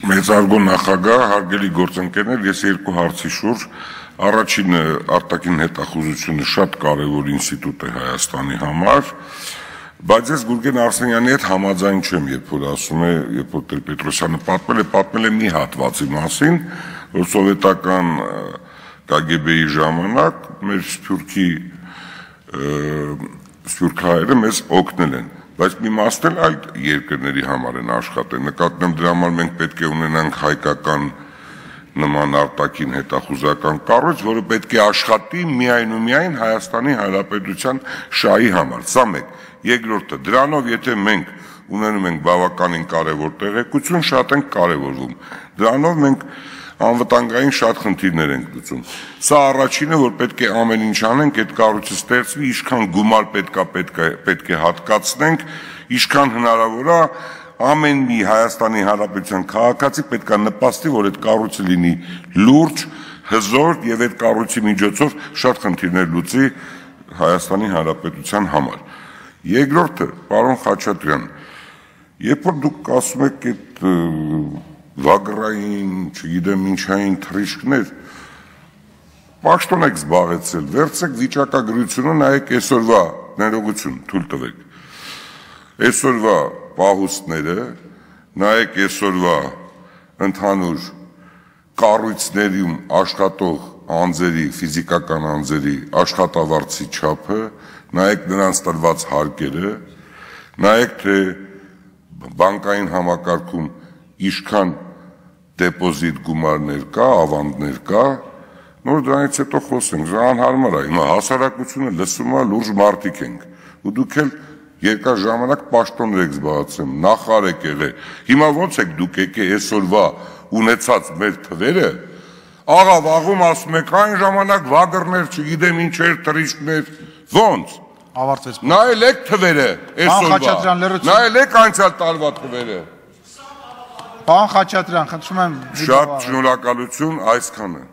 Մեծարգո նախագահ, հարգելի գործընկերներ, ես երկու հարցի շուրջ, առաջինը արտաքին հետախուզությունը շատ կարևոր ինստիտուտ է Հայաստանի համար, բայց ես Գուրգեն Արսենյանի հետ համաձայն չեմ, երբ որ ասում է, երբ որ Տեր-Պետրոսյանը պատմել է մի հատվածի մասին, որ սովետական KGB-ի ժամանակ մեր սփյուռքահայերը մեզ օգնել են, բայց մի մասն էլ այլ երկրների համար են աշխատել, նկատեմ դրա համար մենք պետք է ունենանք հայկական նման արտաքին հետախուզական կառույց, որը պետք է աշխատի միայն ու միայն Հայաստանի Հանրապետության շահի համար, սա մեկ, երկրորդը, դրանով եթե մենք ունենում ենք բավականին կարևոր տեղեկություն, շատ ենք կարևորվում, դրանով մենք անվտանգային շատ խնդիրներ ենք լուծում, սա առաջինը, որ պետք է ամեն ինչ անենք, այդ կառույցը ստեղծվի, ինչքան գումար պետք է հատկացնենք, ինչքան հնարավոր է, ամեն մի Հայաստանի Հանրապետության քաղաքացի պետք է նպաստի, որ այդ կառույցը լինի լուրջ, հզոր եւ այդ կառույցի միջոցով շատ խնդիրներ լուծի Հայաստանի Հանրապետության համար։ Երկրորդը, պարոն Խաչատրյան, երբ որ դուք ասում եք այդ վագրային, չգիտեմ ինչային թռիչքներ, պաշտոն եք զբաղեցել, վերցրեք վիճակագրությունը, նայեք այսօրվա ներողություն, թույլ տվեք, այսօրվա պահուստները, նայեք այսօրվա ընդհանուր կառույցներում աշխատող անձերի, ֆիզիկական անձերի աշխատավարձի չափը, նայեք նրանց տրված հարկերը, նայեք թե բանկային համակարգում ինչքան դեպոզիտ գումարներ կա, ավանդներ կա, նոր դրանից հետո խոսենք, անհարմար է, հիմա հասարակությունը լսում է, լուրջ մարդիկ ենք, ու դուք էլ երկար ժամանակ պաշտոններ եք զբաղեցնում, նախարար եք եղել, հիմա ոնց եք դուք եկե այսօրվա ունեցած մեր թվերը, աղա վաղում ասում եք, այն ժամանակ վագրներ, չգիտեմ ինչեր, թռիչքներ, ոնց, նայել եք թվերը այսօրվա, նայել եք անցյալ տարվա թվերը, Պարոն Խաչատրյան, խնդրում եմ շատ շնորհակալություն, այսքանը